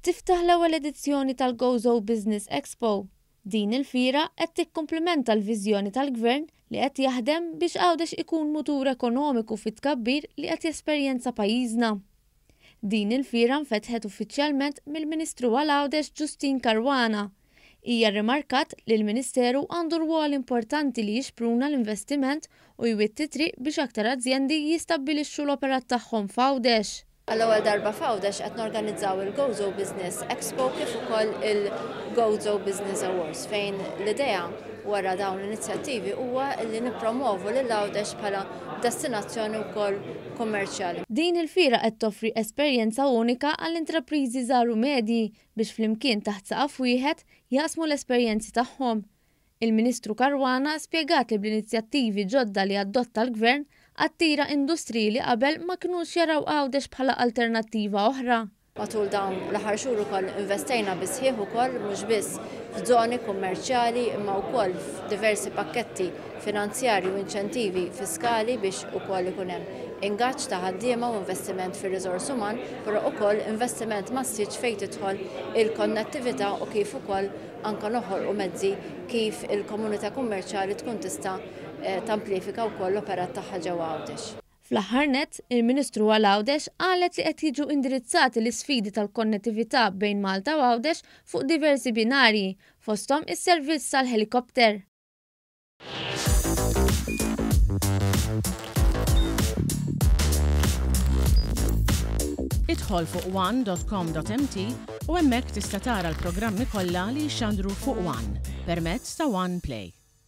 tiftaħ l-ewwel edizzjoni tal-Gozo Business Expo. Din il-fiera qed tikkumplimenta l-viżjoni tal-Gvern li qed jaħdem biex Għawdex ikun mutur ekonomiku fit-tkabbir li qed jesperjenza pajjiżna. Din il-fiera nfetħet uffiċjalment mill-Ministru għal Għawdex Justyne Caruana. Hija rrimarkat li l-Ministeru għandu rwol importanti li jixpruna l-investiment u jwitti t-triq biex aktar azjendi jistabbilixxu l-operat tagħhom f'Għawdex. Għall-ewwel darba f'Għawdex qed norganizzaw il-Gozo Business Expo kif ukoll il-Gozo Business Awards fejn l-idea wara dawn l-inizjattivi huwa li nippromovu lil Għawdex bħala destinazzjoni wkoll kummerċjali. Din il-fiera qed toffri esperjenza unika għall-intrapriżi żgħar u medji biex flimkien taħt saqaf wieħed jaqsmu l-esperjenzi tagħhom. Il-Ministru Caruana spjegat li bl-inizjattivi ġodda li adotta l-Gvern attira industriji li qabel ma kinux jaraw Għawdex bħala alternattiva oħra. Matul dawn l-aħħar xhur ukoll investejna bi sħiħ ukoll mhux biss f'żoni kummerċjali imma wkoll f'diversi pakketti finanzjarji u inċentivi fiskali biex ukoll ikun hemm ingaġġ ta' ħaddiema u investiment fir-riżors uman, però ukoll investiment massiċ fejn tidħol il-konnettività u kif ukoll anke noħolqu mezzi kif il-komunità kummerċjali tkun tista' tamplifika wkoll l-operat tagħha ġewwa Għawdex. Fl-aħħar nett, il-Ministru għal Għawdex qalet li qed jiġu indirizzati l-isfidi tal-konnettività bejn Malta u Għawdex fuq diversi binarji, fosthom is-servizz tal-ħelikopter. Idħol fuq one.com.mt u hemmhekk tista' tara l-programmi kollha li jixxandru fuq One permezz ta' One Play.